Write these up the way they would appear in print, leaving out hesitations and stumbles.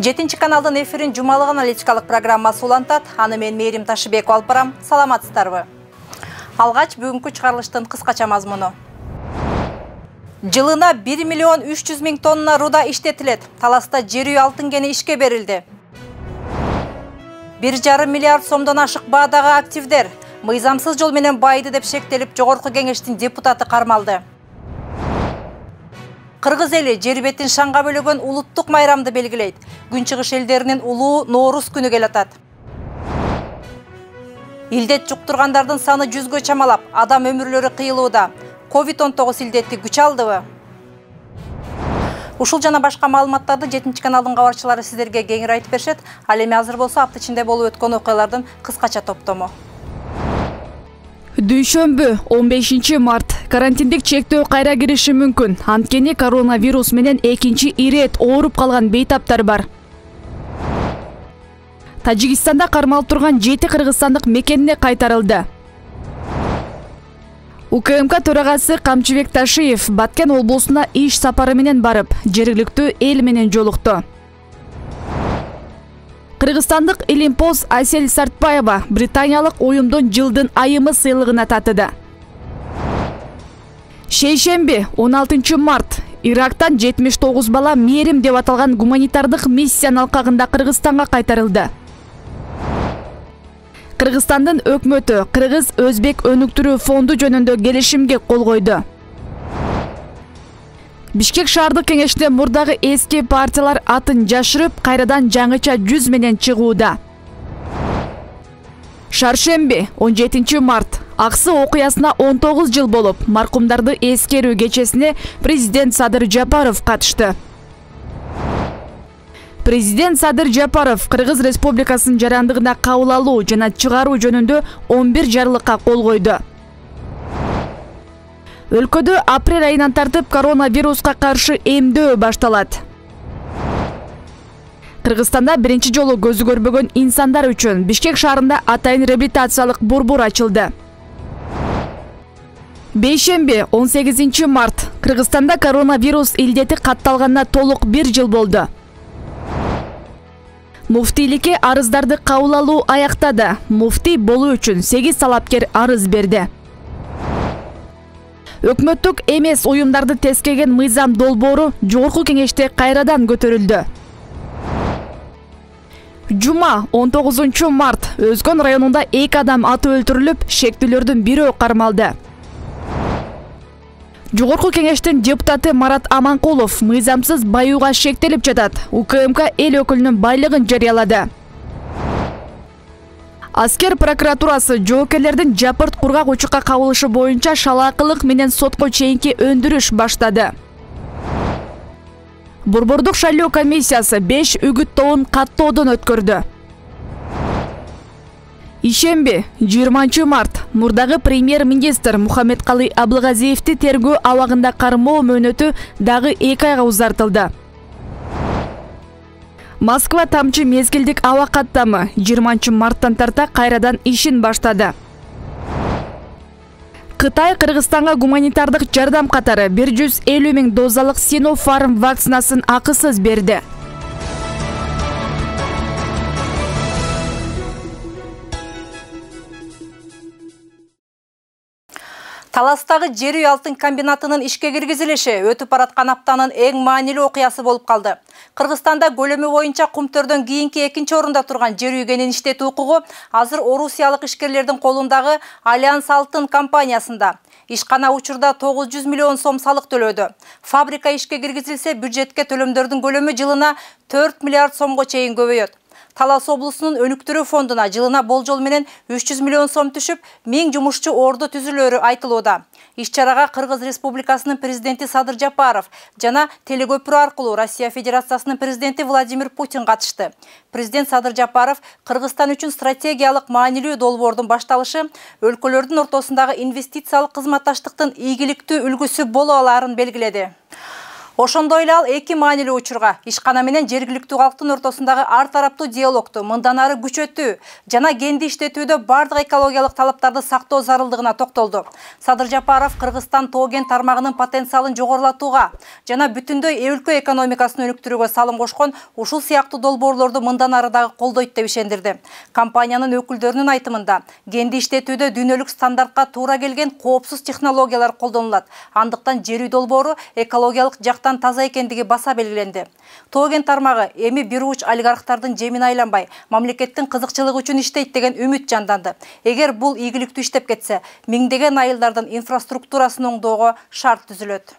7 каналдын эфирин жумалык аналитикалык программасы улантат. Аны мен Мээрим Ташыбекова алып барам. Саламатсыздарбы? Алгач бүгүнкү чыгарылыштын кыскача мазмуну. Жылына 1 миллион 300 миң тонна руда иштетилет. Таласта жер үй алтын кени ишке берилди. 1,5 миллиард сомдон ашык баадагы активдер мыйзамсыз жол менен байды деп шектелип, Жогорку кеңештин депутаты кармалды. Кыргыз эли жер бетин шаңга бөлөгөн улуттук майрамды белгилейт. Күнчыгыш элдеринин улуу Ноорус күнү келатат. Илдет жуктургандардын саны 100гө чамалап, адам өмүрлөрү кыйылууда. COVID-19 илдети күч алдыбы? Ушул жана башка маалыматтарды 7 каналдын кабарчылары сиздерге кеңири айтып беришет. Ал эми азыр болсо апта ичинде болуп өткөн окуялардын кыскача топтому. Дүйшөмбү 15 март карантиндик чектөө кайра кириши мүмкүн. Анткени коронавирус менен экинчи ирет ооруп калган бейтаптар бар. Тажикстанда кармалып турган 7 кыргызстандык мекенине кайтарылды. УКМК төрагасы Камчыбек Ташиев Баткен облусуна иш сапары менен барып, жергиликтүү эл менен жолукту. Кыргызстандык Илимпоз Асель Сартбаева британиялык уюмдун жылдын айымы сыйлыгына татыды. Шейшемби 16 март Ирактан 79 бала Мээрим деп аталган гуманитардык миссиянын алкагында Кыргызстанга кайтарылды. Кыргызстандын өкмөтү Кыргыз-Өзбек өнүктүрүү фонду жөнүндө келишимге кол койду. Бишкек шаардык кеңеште мурдагы эски партиялар атын жашырып, кайрадан жаңыча жүз менен чыгууда. Шаршемби 17 март Аксы окуясына 19 жыл болуп, маркумдарды эскерүү кечесине президент Садыр Жапаров катышты. Президент Садыр Жапаров Кыргыз Республикасынын жарандыгына кабыл алуу жана чыгаруу жөнүндө 11 жарлыкка кол койду. Өлкөдө апрель айынан тартып коронавируска каршы эмдөө башталат. Кыргызстанда биринчи жолу көзү көрбөгөн инсандар үчүн Бишкек шаарында атайын реабилитациялык борбор ачылды. Бейшемби 18 март Кыргызстанда коронавирус илдети катталганына толук 1 жыл болду. Муфтийликке арыздарды кабыл алуу аяктады. Муфтий болуу үчүн 8 талапкер арыз берди. Өкмөттүк эмес уюмдарды тескеген мыйзам долбоору Жогорку кеңеште кайрадан көтөрүлдү. Жума 19 март Өзгөн районунда 2 адам атып өлтүрүлүп, шектүүлөрдүн бирөө кармалды. Жогорку кеңештин депутаты Марат Аманкулов мыйзамсыз баюуга шектелип жатат. УКМК эл өкүлүнүн байлыгын жарыялады. Аскер прокуратурасы жоокерлердин жапырт кургак учукка кабылышы боюнча шалаакылык менен сотко чейинки өндүрүш баштады. Борбордук шайлоо комиссиясы 5 үгүттөөнүн каттоодон өткөрдү. Ишемби 20 март мурдагы премьер-министр Мухаммедкалый Абылгазиевди тергөө абагында кармоо мөөнөтү дагы 2 айга узартылды. Москва тамчы мезгилдик аба каттамы 20 марттан тарта кайрадан ишин баштады. Кытай Кыргызстанга гуманитардык жардам катары 150 миң дозалык Sinopharm вакцинасын акысыз берди. Таластагы жер үй алтын комбинатынын ишке киргизилиши өтүп бараткан аптанын эң маанилүү окуясы болуп калды. Кыргызстанда көлөмү боюнча кумтөрдөн кийинки экинчи орунда турган жер үй кенин иштетүү укугу азыр орусиялык ишкерлердин колундагы Альянс Алтын компаниясында. Ишкана учурда 900 миллион сом салык төлөдү. Фабрика ишке киргизилсе, бюджетке төлөмдөрдүн көлөмү жылына 4 миллиард сомго чейин көбөйөт. Талас облусунун өнүктүрүү фондуна жылына болжол менен 300 миллион сом түшүп, 1000 жумушчу орду түзүлөрү айтылууда. Иш-чарага Кыргыз Республикасынын президенти Садыр Жапаров жана телекөпүрө аркылуу Россия Федерациясынын президенти Владимир Путин катышты. Президент Садыр Жапаров Кыргызстан үчүн стратегиялык маанилүү долбоордун башталышы өлкөлөрдүн ортосундагы инвестициялык кызматташтыктын ийгиликтүү үлгүсү боло алаарын белгиледи. Ошондой эле ал эки маанилүү учурга ишкана менен жергиликтүү калктын ортосундагы ар тараптуу диалогду мындан ары күчөтүү жана кенди иштетүүдө бардык экологиялык талаптарды сактоо зарылдыгына токтолду. Садыр Жапаров Кыргызстан тоо-кен тармагынын потенциалын жогорулатууга жана бүтүндөй өлкө экономикасын өнүктүрүүгө салым кошкон ушул сыяктуу долбоорлорду мындан ары дагы колдойт деп ишендирди. Компаниянын өкүлдөрүнүн айтымында, кенди иштетүүдө дүйнөлүк стандартка туура келген коопсуз технологиялар колдонулат. Андыктан жер үй долбоору экологиялык жактан таза экендиги баса белгиленди. Тоо-кен тармагы эми бир уч олигархтардын жемине айланбай, мамлекеттин кызыкчылыгы үчүн иштейт деген үмүт жанданды. Эгер бул ийгиликтүү иштеп кетсе, миңдеген айылдардын инфраструктурасын оңдоого шарт түзүлөт.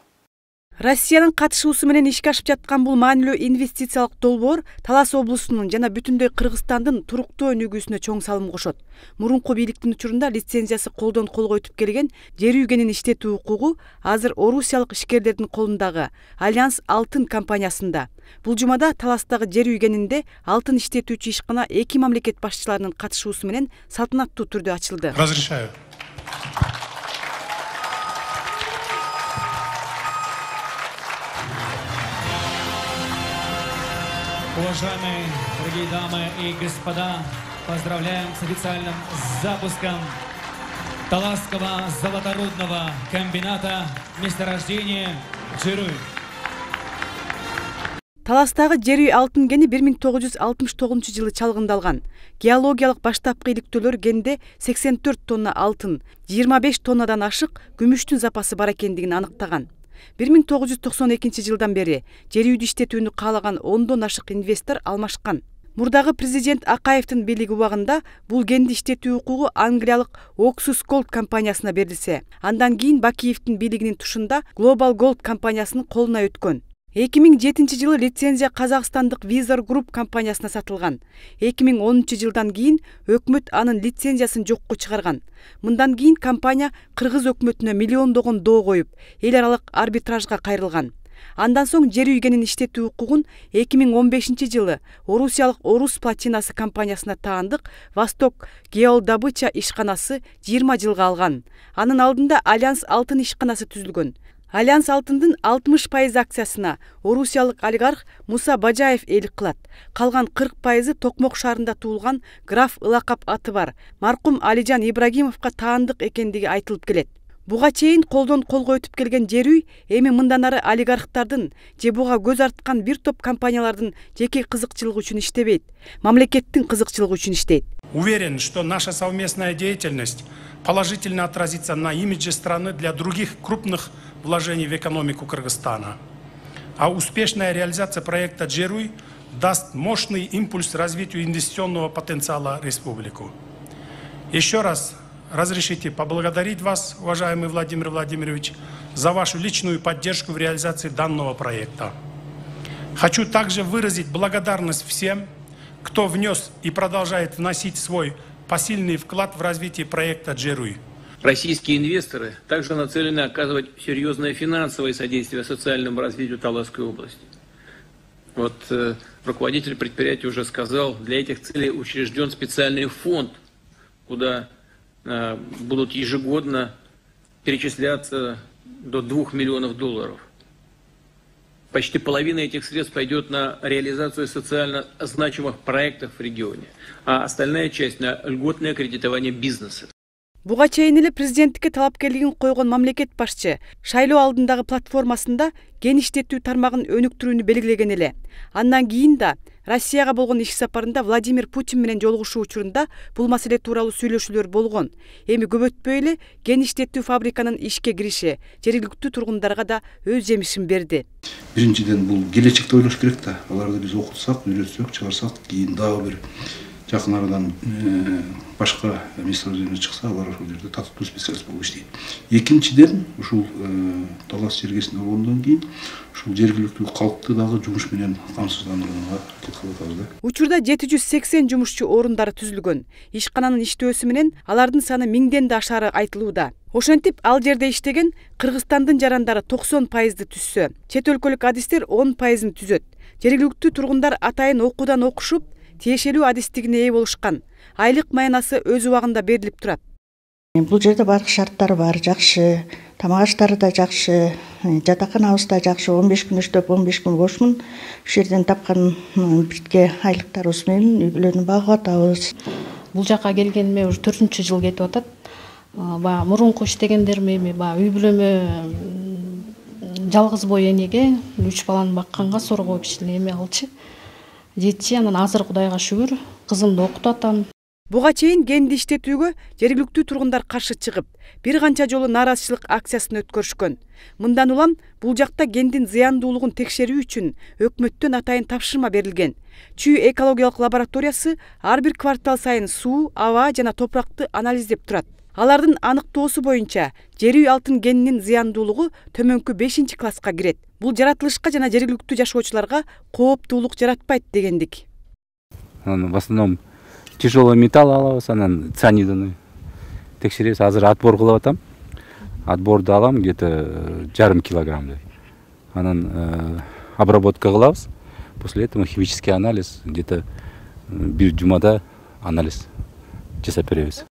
Россиянын катышуусу менен ишке ашып жаткан бул маанилүү инвестициялык долбоор Талас облусунун жана бүтүндөй Кыргызстандын туруктуу өнүгүүсүнө чоң салым кошот. Мурунку бийликтин учурунда лицензиясы колдон колго өтүп келген жер үй кенин иштетүү укугу азыр орусиялык ишкерлердин колундагы Альянс Алтын компаниясында. Бул жумада Таластагы жер үй кенинде алтын иштетүүчү ишкана эки мамлекет башчыларынын катышуусу менен салтанаттуу түрдө ачылды. Разрешаю. Уважаемые дорогие дамы и господа, поздравляем с официальным запуском Таласского золоторудного комбината месторождения жер үй. Таластагы жер үй алтын кени 1969 жылы чалгындалган. Геологиялык баштапкы иликтөөлөр кенде 84 тонна алтын, 25 тоннадан ашык күмүштүн запасы бар экендигин аныктаган. 1992 жылдан бери жер үйдү иштетүүнү каалаган 10дон ашык инвестор алмашкан. Мурдагы президент Акаевдин бийлиги убагында бул кенди иштетүү укугу англиялык Oxus Gold компаниясына берилсе, андан кийин Бакиевдин бийлигинин тушунда Global Gold компаниясынын колуна өткөн. 2007 жылы лицензия Казакстандык Vizor Group компаниясына сатылган. 2010 жылдан кийин өкмөт анын лицензиясын жокко чыгарган. Мындан кийин компания кыргыз өкмөтүнө миллиондогон доо коюп, эл аралык арбитражга кайрылган. Андан соң жер үй кенин иштетүү укугун 2015 жылы орусиялык Орус платинасы компаниясына таандык Восток Геодобыча ишканасы 20 жылга алган. Анын алдында Альянс Алтын ишканасы түзүлгөн. Альянс Алтындын 60% акциясына орусиялык олигарх Муса Бажаевээлик кылат. Калган 40% Токмок шаарында туулган граф ылакап аты бар маркум Алижан Ибрагимовго таандык экендиги айтылып келет. Буга чейин колдон колго өтүп келген жер үй эми мындан ары олигархтардын же буга көз арткан бир топ компаниялардын жеке кызыкчылыгы үчүн иштебейт, мамлекеттин кызыкчылыгы үчүн иштейт. Уверен, что наша совместная деятельность положительно отразится на имидже страны для других крупных вложений в экономику Кыргызстана. А успешная реализация проекта «Жер үй» даст мощный импульс развитию инвестиционного потенциала республики. Еще раз разрешите поблагодарить вас, уважаемый Владимир Владимирович, за вашу личную поддержку в реализации данного проекта. Хочу также выразить благодарность всем, кто внес и продолжает вносить свой посильный вклад в развитие проекта «Жер үй». Российские инвесторы также нацелены оказывать серьезное финансовое содействие социальному развитию Таласской области. Вот руководитель предприятия уже сказал, для этих целей учрежден специальный фонд, куда будут ежегодно перечисляться до $2 миллионов. Почти половина этих средств пойдет на реализацию социально значимых проектов в регионе, а остальная часть на льготное кредитование бизнеса. Буга чейин эле президенттикке талапкерлигин койгон мамлекет башчы шайлоо алдындагы платформасында кен иштетүү тармагын өнүктүрүүнү белгилеген эле. Андан кийин да Россияга болгон иш сапарында Владимир Путин менен жолугушуу учурунда бул маселе тууралуу сүйлөшүүлөр болгон. Эми көп өтпөй эле кен иштетүү фабриканын ишке кириши жергиликтүү тургундарга да өз жемишин берди. Биринчиден бул келечекте ойлош керек да. Аларды биз окутсак, үйрөтсөк, чыгарсак, кийин дагы бир жакын арадан башка месторождение чыкса, алар ошол жерде татыктуу специалист болуп иштейт. Экинчиден, ушул Талас жергесин болгондон кийин ушул жергиликтүү калкты дагы жумуш менен камсыздандырууга аракет кылып атабыз да. Учурда 780 жумушчу орундары түзүлгөн. Ишкананын иштөөсү менен алардын саны 1000ден да ашары айтылууда. Ошентип, ал жерде иштеген Кыргызстандын жарандары 90%ды түзсө, чет өлкөлүк адистер 10%ын түзөт. Жергиликтүү тургундар атайын окуудан окушуп, тиешелүү адистигине ээ болушкан. Айлык маянасы өз убагында берилип турат. Бул жерде бардык шарттар бар, жакшы. Тамак аштары да жакшы, жатаканабыз да жакшы. 15 күн иштеп, 15 күн бошмун. Ушул жерден тапкан бирге айлыктарыбыз менен үй бүлөнү багып атабыз. Бул жака келгениме уже 4-чү жыл кетип атат. Баягы мурунку иштегендерим эми баягы үй бүлөмө жалгыз бой энеге 3 баланы бакканга сорго кичине эме алчы. Жетчи, анан азыр Кудайга шүгүр, кызымды окутуп атам. Буга чейин генди иштетүүгө жергиликтүү тургундар каршы чыгып, бир канча жолу нааразычылык акциясын өткөрүшкөн. Мындан улам бул жакта гендин зыяндуулугун текшерүү үчүн өкмөттөн атайын тапшырма берилген. Чүй экологиялык лабораториясы ар бир квартал сайын суу, аба жана топуракты анализдеп турат. Алардын аныктоосу боюнча жер үй алтын генинин зыяндуулугу төмөнкү 5-класска кирет. Бул жаратылышка жана жергиликтүү жашоочуларга кооптуулук жаратпайт дегендик. В основном тяжелый металл алабыз, анан цианидini текшеребиз. Азыр отбор кылып атам. Отборду алам где-то 1,5 килограммдай. Анан обработка кылабыз. После этого химический анализ где-то бир жумада анализ жасап беребиз.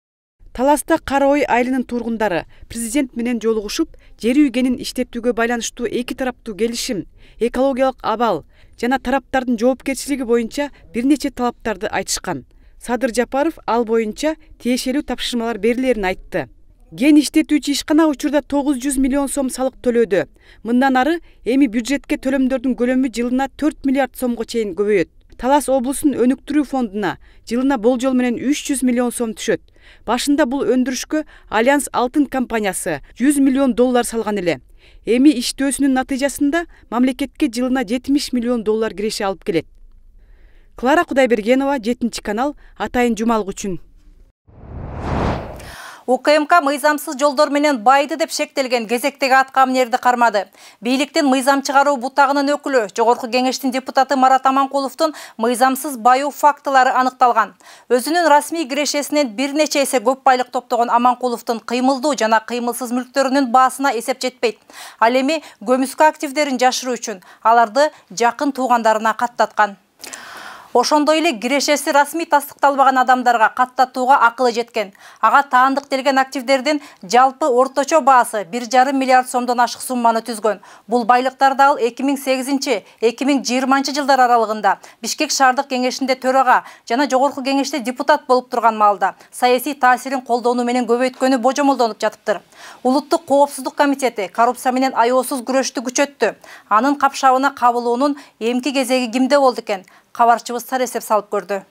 Таласта Кара Ой айылынын тургундары президент менен жолугушуп, жер үй генин иштетүүгө байланыштуу эки тараптуу келишим, экологиялык абал жана тараптардын жоопкерчилиги боюнча бир нече талаптарды айтышкан. Садыр Жапаров ал боюнча тиешелүү тапшырмалар берилерин айтты. Ген иштетүүчү ишкана учурда 900 миллион сом салык төлөдү. Мындан ары эми бюджетке төлөмдөрдүн көлөмү жылына 4 миллиард сомго чейин көбөйөт. Талас облусунун өнүктүрүү фондуна жылына болжол менен 300 миллион сом түшөт. Башында бул өндүрүшкө Альянс Алтын компаниясы 100 миллион доллар салган эле. Эми иштөөсүнүн натыйжасында мамлекетке жылына 70 миллион доллар киреше алып келет. Клара Кудайбергенова, 7-канал, Атайын жумалык үчүн. УКМК мыйзамсыз жолдор менен байды деп шектелген кезектеги аткаминерди кармады. Бийликтин мыйзам чыгаруу бутагынын өкүлү, Жогорку кеңештин депутаты Марат Аманкуловдун мыйзамсыз баюу фактылары аныкталган. Өзүнүн расмий кирешесинен бир нече эсе көп байлык топтогон Аманкуловдун кыймылдуу жана кыймылсыз мүлктөрүнүн баасына эсеп жетпейт. Ал эми көмүскө активдерин жашыруу үчүн аларды жакын туугандарына каттаткан. Ошондой эле кирешеси расмий тастыкталбаган адамдарга каттатууга акылы жеткен. Ага таандык делген активдердин жалпы орточо баасы 1,5 миллиард сомдон ашык сумманы түзгөн. Бул байлыктарды ал 2008-2020 жылдар аралыгында Бишкек шаардык кеңешинде төрага жана Жогорку кеңеште депутат болуп турган маалда саясий таасирин колдонуу менен көбөйткөнү божомолдонуп жатыптыр. Улуттук коопсуздук комитети коррупция менен аеосуз күрөштү күчөттү. Анын капшабына кабылуунун эмки кезеги кимде болду экен? Кабарчыбыз эсеп салып көрдү.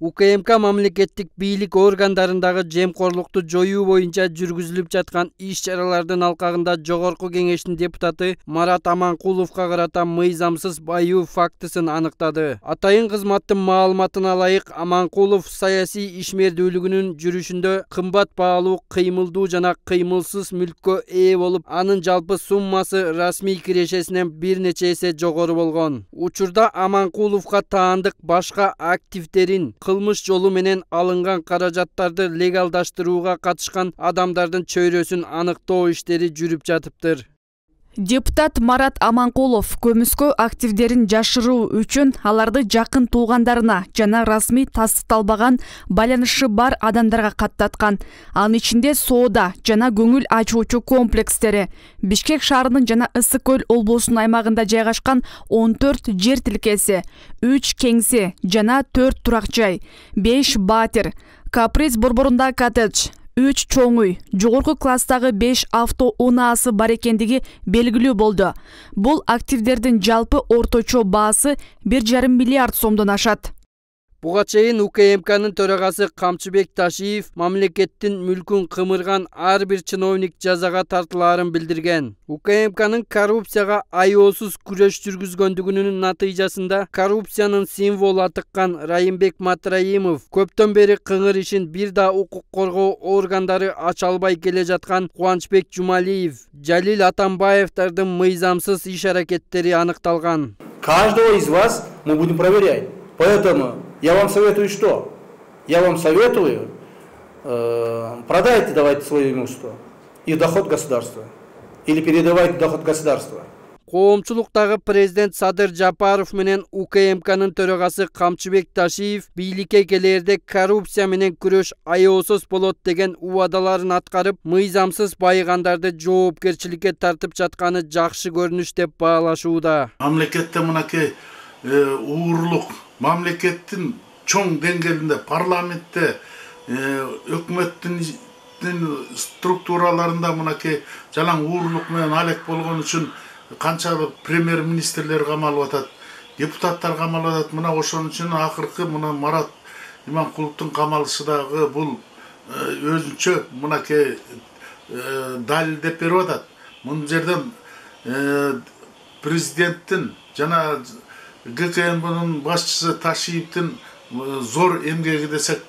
УКМК мамлекеттик бийлик органдарындагы жемкорлукту жоюу боюнча жүргүзүлүп жаткан иш-чаралардын алкагында Жогорку кеңештин депутаты Марат Аманкуловго карата мыйзамсыз баюу фактысын аныктады. Атайын кызматтын маалыматына ылайык, Аманкулов саясий ишмердүүлүгүнүн жүрүшүндө кымбат баалуу кыймылдуу жана кыймылсыз мүлккө ээ болуп, анын жалпы суммасы расмий кирешесинен бир нече эсе жогору болгон. Учурда Аманкуловго таандык башка активдерин кылмыш жолу менен алынган каражаттарды легалдаштырууга катышкан адамдардын чөйрөсүн аныктоо иштери жүрүп жатыптыр. Депутат Марат Аманкулов көмүскө активдерин жашыруу үчүн аларды жакын туугандарына жана расмий тастыкталбаган байланышы бар адамдарга каттаткан. Анын ичинде соода жана көңүл ачуучу комплекстери, Бишкек шаарынын жана Ысык көл облусунун аймагында жайгашкан 14 жер тилкеси, 3 кеңсе жана 4 турак жай, 5 батир, Каприз борборунда коттедж, 3 чоң үй, жогорку класстагы 5 авто унаасы бар экендиги белгилүү болду. Бул активдердин жалпы орточо баасы 1,5 миллиард сомдон ашат. Буга чейин УКМКнын төрагасы Камчыбек Ташиев мамлекеттин мүлкүн кымырган ар бир чиновник жазага тартылаарын билдирген. УКМКнын коррупцияга аеосуз күрөш жүргүзгөндүгүнүн натыйжасында коррупциянын символу атыккан Райымбек Матраимов көптөн бери кыңыр ишин бир да укук коргоо органдары ача албай келе жаткан Кубанычбек Жумалиев, Жалил Атамбаевдардын мыйзамсыз иш-аракеттери аныкталган. Каждого из вас мы будем проверять. Поэтому я вам советую что? Я вам советую продайте, давайте свое имущество и доход государства. Или передавайте доход государства. Коомчулуктагы президент Садыр Жапаров менен УКМКнын төрагасы Камчыбек Ташиев бийликке келерде коррупция менен күрөш аеосуз болот деген убадаларын аткарып, мыйзамсыз байыгандарды жоопкерчиликке тартып жатканы жакшы көрүнүш деп баалашууда. Мамлекетте мынакей уурлук, мамлекеттин чоң деңгээлинде, парламентте, өкмөттүн структураларында мынакей жалаң уурлук менен алек болгон үчүн канчалык премьер-министрлер камалып атат, депутаттар камалып атат. Мына ошон үчүн акыркы мына Марат Иманкуловдун камалышы дагы бул өзүнчө мынакей далилдеп берип атат. Мун жерден президенттин жана ГКМБнын башчысы Ташиевдин зор эмгеги десек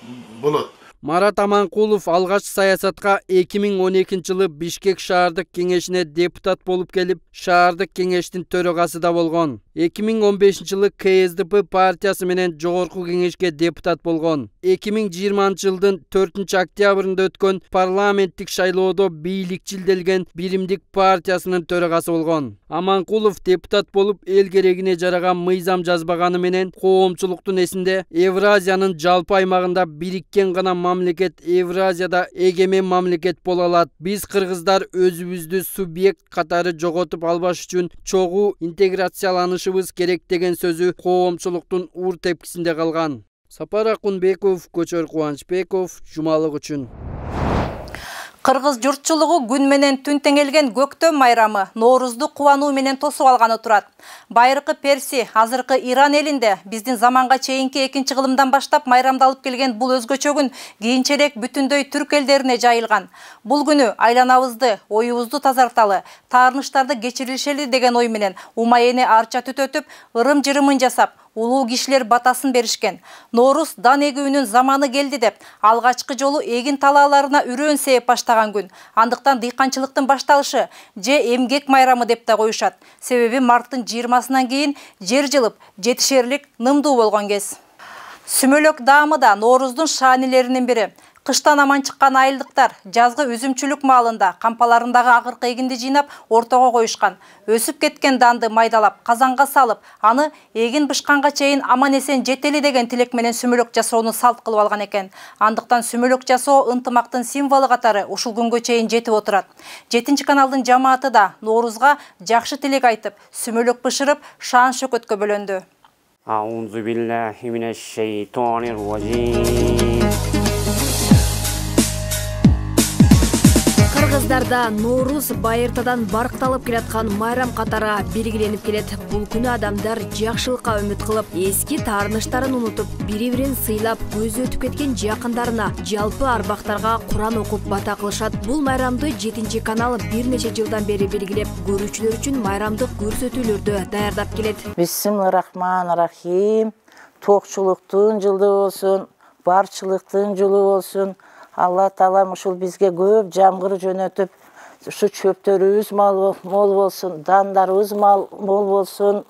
болот. Марат Аманкулов алгач саясатка 2012-жылы Бишкек шаардык кеңешине депутат болуп келип, шаардык кеңештин төрагасы да болгон. 2015-жылы КСДП партиясы менен жогорку кеңешке депутат болгон. 2020-жылдын 4-октябрында өткөн парламенттик шайлоодо бийликчилделген Биримдик партиясынын төрагасы болгон. Аманкулов депутат болуп эл керегине жараган мыйзам жазбаганы менен коомчулуктун эсинде Евразиянын жалпы аймагында бириккен гана мамлекет Евразияда эгемен мамлекет боло алат. Биз кыргыздар өзүбүздү субъект катары жоготуп албаш үчүн чогуу интеграцияланышыбыз керек деген сөзү коомчулуктун уур тепкисинде калган. Сапар Акунбеков, Көчөр Кубанычбеков, Жумалык үчүн. Кыргыз журтчулугу күн менен түн теңелген көктөм майрамы Ноорузду кубануу менен тосуп алганы турат. Байыркы Перси, азыркы Иран элинде биздин заманга чейинки 2-кылымдан баштап майрамдалып келген бул өзгөчө күн кийинчерээк бүтүндөй түрк элдерине жайылган. Бул күнү айланабызды, оюбузду тазарталы, таарыныштарды кечирилишели деген ой менен умайене арча түтөтүп, ырым-жырымын жасап, улуу кишилер батасын беришкен. Норуз дан эгүүнүн заманы келди деп, алгачкы жолу эгин талааларына үрөөн сээп баштаган күн. Андыктан дыйканчылыктын башталышы же эмгек майрамы деп да коюшат. Себеби марттын 20-сынан кийин жер жылып, жетишерлик нымдуу болгон кез. Сүмөлөк даамы да Норуздун шаанилеринин бири. Кыштан аман чыккан айылдыктар жазгы үзүмчүлүк маалында кампаларындагы агыркы эгинди жыйнап ортого коюшкан. Өсүп кеткен данды майдалап, казанга салып, аны эгин бышканга чейин аман-эсен жетели деген тилек менен сүмөлөк жасоону салт кылып алган экен. Андыктан сүмөлөк жасоо ынтымактын символу катары ушул күнгө чейин жетип отурат. 7-каналдын жамааты да Ноорузга жакшы тилек айтып, сүмөлөк бышырып, шаан шөкөткө бөлөндү. Аузу биллахи минеш шейтонир раджим. Кыргыздарда Ноорус байыртадан баркталып келаткан майрам катары белгиленип келет. Бул күнү адамдар жакшылыкка үмүт кылып, эски таарыныштарын унутуп, бири-бирин сыйлап, көзү өтүп кеткен жакындарына, жалпы арбактарга Куран окуп бата кылышат. Бул майрамды 7-канал бир нече жылдан бери белгилеп, көрүүчүлөр үчүн майрамдык көрсөтүүлөрдү даярдап келет. Бисмиллахиррахманиррахим. Токчулуктун жылы болсун, барчылыктын жылы болсун. Алла Таалам ушул бизге көп жамгыр жөнөтүп, ушу чөптөрүбүз мол болсун, дандарыбыз мол болсун.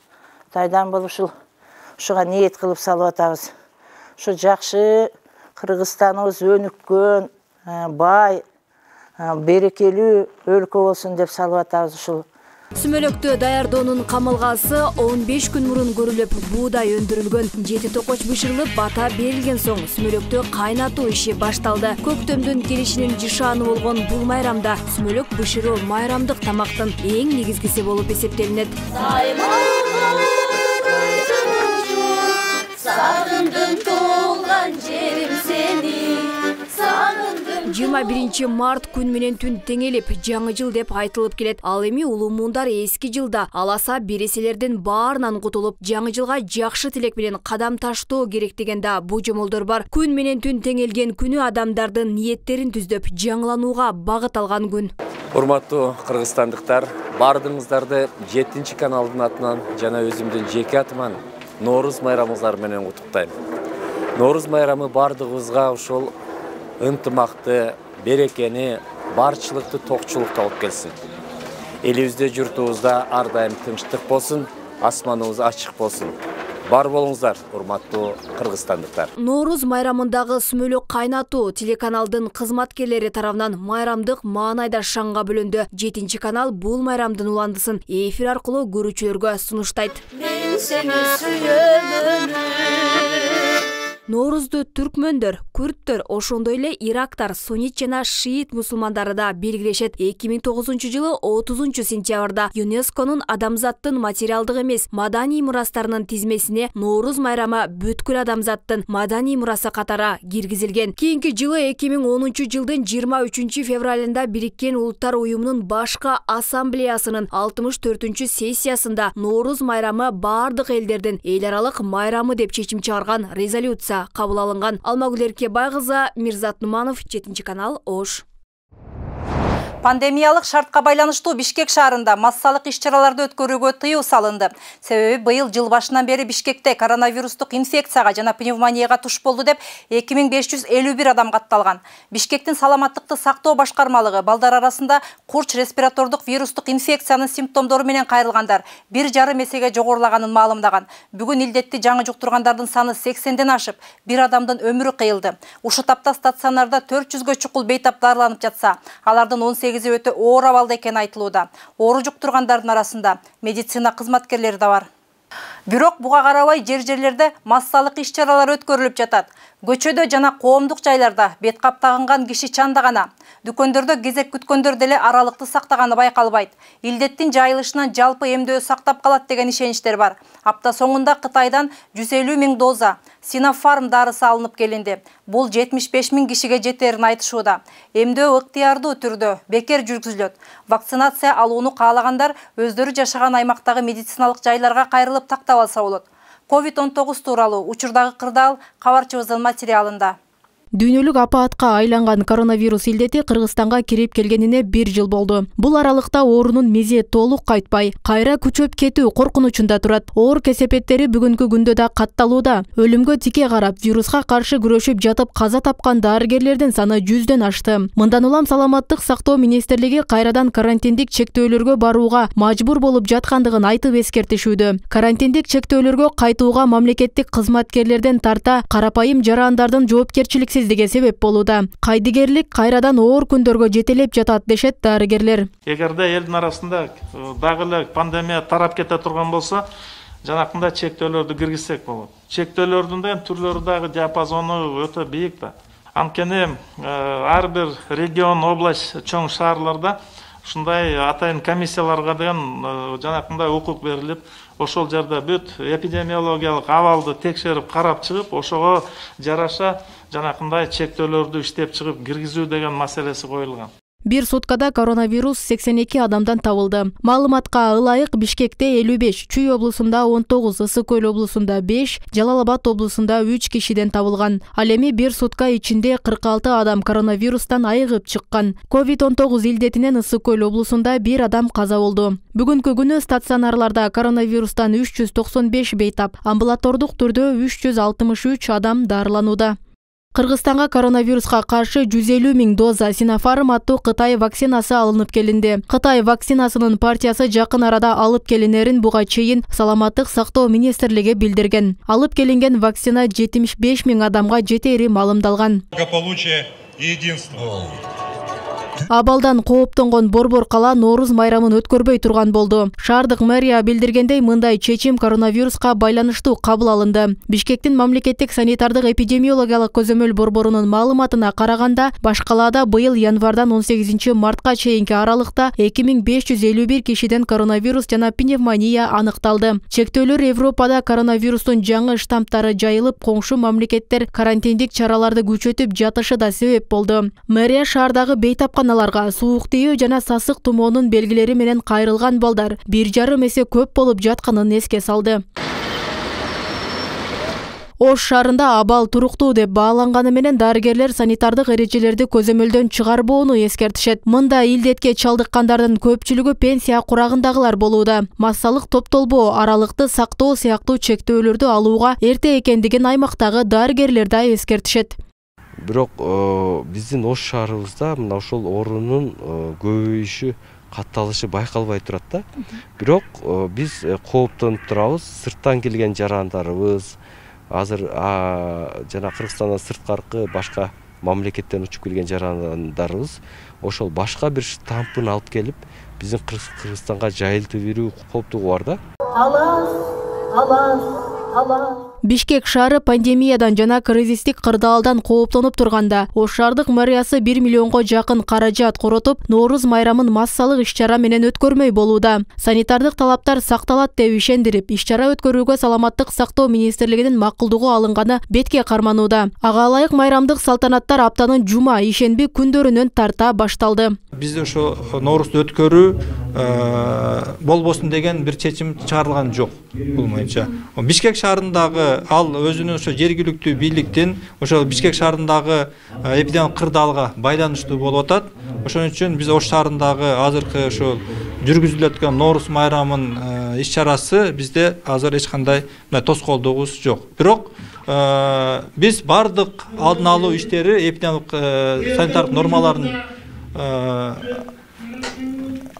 Кытайдан болуп ушуга ниет кылып салып атабыз. Ушу жакшы Кыргызстаныбыз өнүккөн, бай, берекелүү өлкө болсун деп салып атабыз ушул. Сүмөлөктү даярдоонун камылгасы 15 күн мурун көрүлүп, буудай өндүрүлгөн. 7 токоч бышырылып, бата берилген соң сүмөлөктү кайнатуу иши башталды. Көктөмдүн келишинин жышааны болгон бул майрамда сүмөлөк бышыруу майрамдык тамактын эң негизгиси болуп эсептелинет. Сагындым толган жерим сени. 21 март күн менен түн теңелип, жаңы жыл деп айтылып келет. Ал эми улуу муундар эски жылда аласа береселердин баарынан кутулуп, жаңы жылга жакшы тилек менен кадам таштоо керек деген да божомолдор бар. Күн менен түн теңелген күнү адамдардын ниеттерин түздөп, жаңыланууга багыт алган күн. Урматтуу кыргызстандыктар, баардыгыңыздарды 7-каналдын атынан жана өзүмдүн жеке атыман Ноорuz майрамыңыздар менен куттуктайм. Ноорuz майрамы баардыгыбызга ушул ынтымакты, берекени, барчылыкты, токчулукту алып келсин. Элибизде, журтубузда ар дайым тынчтык болсун, асманыбыз ачык болсун. бар болуңуздар, урматтуу кыргызстандыктар. Нооруз майрамындагы сүмөлөк кайнатуу телеканалдын кызматкерлери тарабынан майрамдык маанайда шаңга бөлөндү. 7-канал бул майрамдын уландысын эфир аркылуу көрүүчүлөргө сунуштайт. Мен сени сүйөмүн. Ноорузду түркмөндөр, күрттөр, ошондой эле ирактар, суннит жана шиит мусулмандары да белгилешет. 2009-жылы 30-сентябрда ЮНЕСКОнун адамзаттын материалдык эмес маданий мурастарынын тизмесине Нооруз майрамы бүткүл адамзаттын маданий мурасы катары киргизилген. Кийинки жылы 2010-жылдын 23-февралында Бириккен Улуттар Уюмунун башкы ассамблеясынын 64-сессиясында Нооруз майрамы бардык элдердин эл аралык майрамы деп чечим чыгарган резолюция кабыл алынган. Алмагүл Эркебай кызы, Мирзат Нуманов, 7-канал, Ош. Пандемиялык шартка байланыштуу Бишкек шаарында массалык иш-чараларды өткөрүүгө тыюу салынды. Себеби быйыл жыл башынан бери Бишкекте коронавирустук инфекцияга жана пневмонияга туш болду деп 2551 адам катталган. Бишкектин саламаттыкты сактоо башкармалыгы балдар арасында курч респиратордук вирустук инфекциянын симптомдору менен кайрылгандар 1,5 эсеге жогорулаганын маалымдаган. Бүгүн илдетти жаңы жуктургандардын саны 80ден ашып, бир адамдын өмүрү кыйылды. Ушу тапта стационарда 400гө чукул бейтап дарыланып жатса, алардын 18 өтө оор абалда экени айтылууда. Оору жуктургандардын арасында медицина кызматкерлери да бар. Бирок буга карабай жер-жерлерде массалык иш-чаралар өткөрүлүп жатат. Көчөдө жана коомдук жайларда бет кап тагынган киши чандагана. Дүкөндөрдө кезек күткөндөр деле аралыкты сактаганы байкалбайт. Илдеттин жайылышынан жалпы эмдөө сактап калат деген ишеничтер бар. Апта соңунда Кытайдан 150 000 доза Sinopharm дарысы алынып келинди. Бул 75 000 кишиге жетерин айтышууда. Эмдөө ыктыярдуу түрдө бекер жүргүзүлөт. Вакцинация алууну каалагандар өздөрү жашаган аймактагы медициналык жайларга кайрылып тактап алса болот. COVID-19 тууралуу учурдагы кырдаал кабарчыбыздын материалында. Дүйнөлүк апаатка айланган коронавирус илдети Кыргызстанга кирип келгенине 1 жыл болду. Бул аралыкта оорунун мези толук кайтпай, кайра күчөп кетүү коркунучунда турат. Оор кесепеттери бүгүнкү күндө да катталууда. Өлүмгө тике карап, вируска каршы күрөшүп жатып каза тапкан дарыгерлердин саны 100дөн ашты. Мындан улам саламаттык сактоо министрлиги кайрадан карантиндик чектөөлөргө барууга мажбур болуп жаткандыгын айтып эскертишүүдө. Карантиндик чектөөлөргө кайтууга мамлекеттик кызматкерлерден тарта карапайым жарандардын жоопкерчиликсиз себеп болууда. Кайдыгерлик кайрадан оор күндөргө жетелеп жатат дешет дарыгерлер. Эгерде элдин арасында дагы эле пандемия тарап кете турган болсо, жанакындай чектөөлөрдү киргизсек болот. Чектөөлөрдүн да түрлөрү дагы диапазону өтө бийик да. Анткени ар бир регион, область, чоң шаарларда ушундай атайын комиссияларга деген жанакындай укук берилип, ошол жерде бүт эпидемиологиялык абалды текшерип карап чыгып, ошого жараша жанакындай чектөөлөрдү иштеп чыгып киргизүү деген маселеси коюлган. Бир суткада коронавирус 82 адамдан табылды. Маалыматка ылайык Бишкекте 55, Чүй облусунда 19, Ысык Көл облусунда 5, Жалал Абад облусунда 3 кишиден табылган. Ал эми бир сутка ичинде 46 адам коронавирустан айыгып чыккан. COVID-19 илдетинен Ысык Көл облусунда 1 адам каза болду. Бүгүнкү күнү стационарларда коронавирустан 395 бейтап, амбулатордук түрдө 363 адам дарыланууда. Кыргызстанга коронавируска каршы 150 000 доза Sinopharm аттуу Кытай вакцинасы алынып келинди. Кытай вакцинасынын партиясы жакын арада алып келинерин буга чейин Саламаттык сактоо министрлиги билдирген. Алып келинген вакцина 75 000 адамга жетери маалымдалган. Благополучие и единство. Абалдан кооптонгон Борбор кала Нооруз майрамын өткөрбөй турган болду. Шаардык мэрия билдиргендей, мындай чечим коронавируска байланыштуу кабыл алынды. Бишкектин мамлекеттик санитардык эпидемиологиялык көзөмөл борборунун маалыматына караганда, башкалаада быйыл январдан 18 мартка чейинки аралыкта 2551 кишиден коронавирус жана пневмония аныкталды. Чектөөлөр Европада коронавирустун жаңы штамптары жайылып, коңшу мамлекеттер карантиндик чараларды күчөтүп жатышы да себеп болду. Мэрия шаардагы бейтапканаларга суук тийүү жана сасык тумоонун белгилери менен кайрылган балдар 1,5 эсе көп болуп жатканын эске салды. Ош шаарында абал туруктуу деп бааланганы менен дарыгерлер санитардык эрежелерди көзөмөлдөн чыгарбоону эскертишет. Мында илдетке чалдыккандардын көпчүлүгү пенсия курагындагылар болууда. Массалык топтолбоо, аралыкты сактоо сыяктуу чектөөлөрдү алууга эрте экендигин аймактагы дарыгерлер да эскертишет. Бирок биздин Ош шаарыбызда мына ошол оорунун көбөйүшү катталышы байкалбай турат да. Бирок биз кооптонуп турабыз. Сырттан келген жарандарыбыз, азыр жана Кыргызстандан сырткаркы башка мамлекеттен учуп келген жарандарыбыз ошол башка бир штампын алып келип, биздин Кыргызстанга жайылтып берүү кооптугу бар да. Бишкек шаары пандемиядан жана кризистик кырдаалдан кооптонуп турганда, Ош шаардык мэриясы 1 миллионго жакын каражат коротуп, Нооруз майрамын массалык иш-чара менен өткөрмөй болууда. Санитардык талаптар сакталат деп ишендирип, иш-чара өткөрүүгө Саламаттык сактоо министрлигинин макулдугу алынганы бетке карманууда. Ага ылайык майрамдык салтанаттар аптанын жума, ишенби күндөрүнөн тарта башталды. Бизде ошо Ноорузду өткөрүү болбосун деген бир чечим чыгарылган жок бул боюнча. Бишкек шаарындагы ал өзүнүн ошо жергиликтүү бийликтин ошо Бишкек шаарындагы эпидемиялык кырдаалга байланыштуу болуп атат. Ошон үчүн биз Ош шаарындагы азыркы ошо жүргүзүлүп аткан Нооруз майрамын иш-чарасы бизде азыр эч кандай тоскоолдугубуз жок. Бирок биз бардык алдын алуу иштери эпидемиялык санитардык нормалардын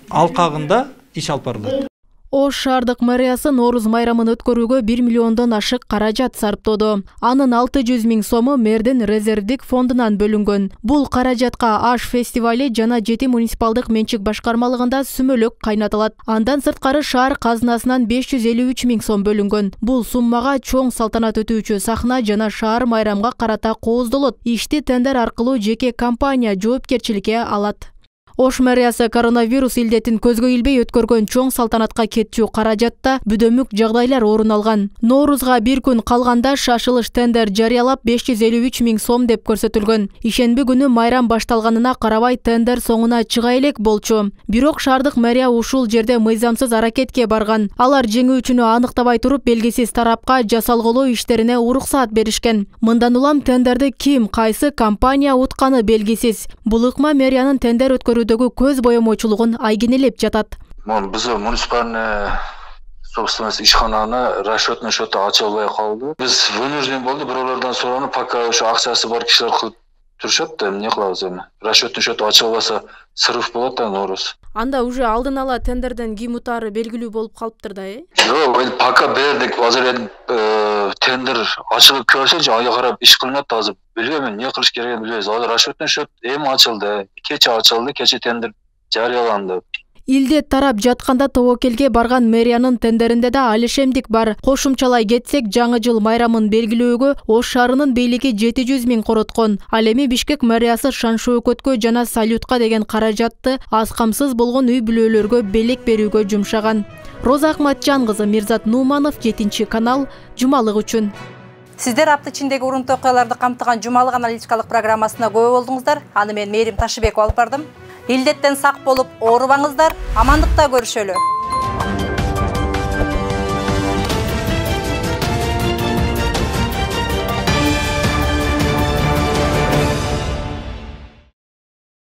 алкагында иш алып барылат. Ош шаардык мэриясы Нооруз майрамын өткөрүүгө 1 миллиондон ашык каражат сарптоодо. Анын 600 000 сому мэрдин резервдик фондунан бөлүнгөн. Бул каражатка Аш фестивали жана Жети муниципалдык менчик башкармалыгында сүмөлөк кайнатылат. Андан сырткары шаар казынасынан 553 000 сом бөлүнгөн. Бул суммага чоң салтанат өтүүчү сахна жана шаар майрамга карата кооздолот. Ишти тендер аркылуу жеке компания жоопкерчиликке алат. Ош мэриясы коронавирус илдетин көзгө илбей өткөргөн чоң салтанатка кетчү каражатта бүдөмүк жагдайлар орун алган. Ноорузга бир күн калганда шашылыш тендер жарыялап 553 000 сом деп көрсөтүлгөн. Ишенби күнү майрам башталганына карабай тендер соңуна чыга элек болчу. Бирок шаардык мэрия ушул жерде мыйзамсыз аракетке барган. Алар жеңүүчүнү аныктабай туруп белгисиз тарапка жасалголоо иштерине уруксаат беришкен. Мындан улам тендерди ким, кайсы компания утканы белгисиз. Бул ыкма мэриянын тендер өткөрүүдөгү көз боемочулугун айгинелеп жатат. Биз муниципальный собственность ишкананы расчетный счету ача албай калды. Биз вынужден болду, бирөөлөрдөн сураны, пока ошо акчасы бар кишилер кылып турушат да, эмне кылабыз эми? Расчетный счету ача албаса срыв болот да Нооруз. Анда уже алдын ала тендерден ким утаары белгилүү болуп калыптыр да, Жок, пока бердик, азыр тендер ачылып келсе, ага карап иш кылынат азыр. Билбейм, эмне кылыш керегин билбейбиз. Азыр расчетный счет эми ачылды, кече тендер жарыяланды. Илдет тарап жатканда тобокелге барган мэриянын тендеринде да алишемдик бар. Кошумчалай кетсек, жаңы жыл майрамын белгилөөгө Ош шаарынын бийлиги 700 000 короткон. Ал эми Бишкек мэриясы шан-шөкөткө жана салютка деген каражатты аз камсыз болгон үй бүлөлөргө белек берүүгө жумшаган. Роза Акматжан кызы, Мирзат Нуманов, 7-канал, жумалык үчүн. Сиздер апта ичиндеги урунтуу окуяларды камтыган жумалык аналитикалык программасына күбө болдуңуздар. Аны мен Мээрим Ташыбекова алып бардым. Илдеттен сак болуп, оорубаңыздар, амандыкта көрүшөлү.